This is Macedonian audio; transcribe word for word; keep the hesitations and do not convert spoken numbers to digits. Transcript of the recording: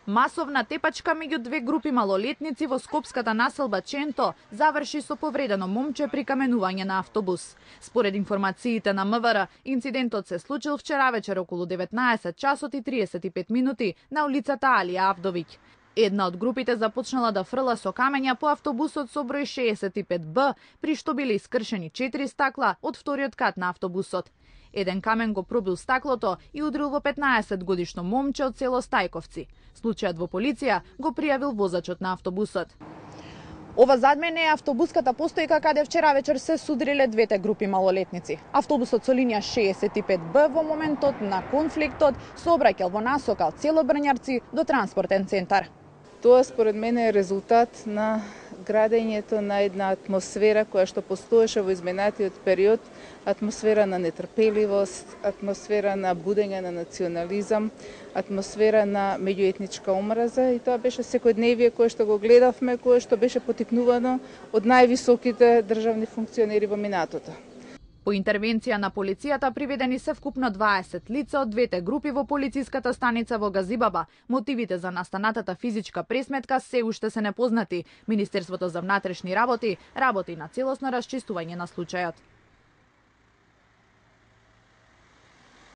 Масовна тепачка меѓу две групи малолетници во скопската населба Ченто заврши со повредено момче при каменување на автобус. Според информациите на МВР, инцидентот се случил вчера вечер околу деветнаесет часот и триесет и пет минути на улицата Алија Авдовиќ. Една од групите започнала да фрла со камења по автобусот со број шеесет и пет Б, при што биле искршени четири стакла од вториот кат на автобусот. Еден камен го пробил стаклото и удрил во петнаесет годишно момче од село Стајковци. Случајот во полиција го пријавил возачот на автобусот. Ова зад мене е автобуската постојка каде вчера вечер се судриле двете групи малолетници. Автобусот со линија шеесет и пет Б во моментот на конфликтот сообраќал во насока од село Брњарци до транспортен центар. Тоа според мене е резултат на градењето на една атмосфера која што постоеше во изминатиот период, атмосфера на нетрпеливост, атмосфера на будење на национализам, атмосфера на меѓуетничка омраза и тоа беше секојдневие кое што го гледавме, кое што беше потикнувано од највисоките државни функционери во минатото. По интервенција на полицијата приведени се вкупно дваесет лица од двете групи во полициската станица во Газибаба. Мотивите за настанатата физичка пресметка се уште се непознати. Министерството за внатрешни работи работи на целосно расчистување на случајот.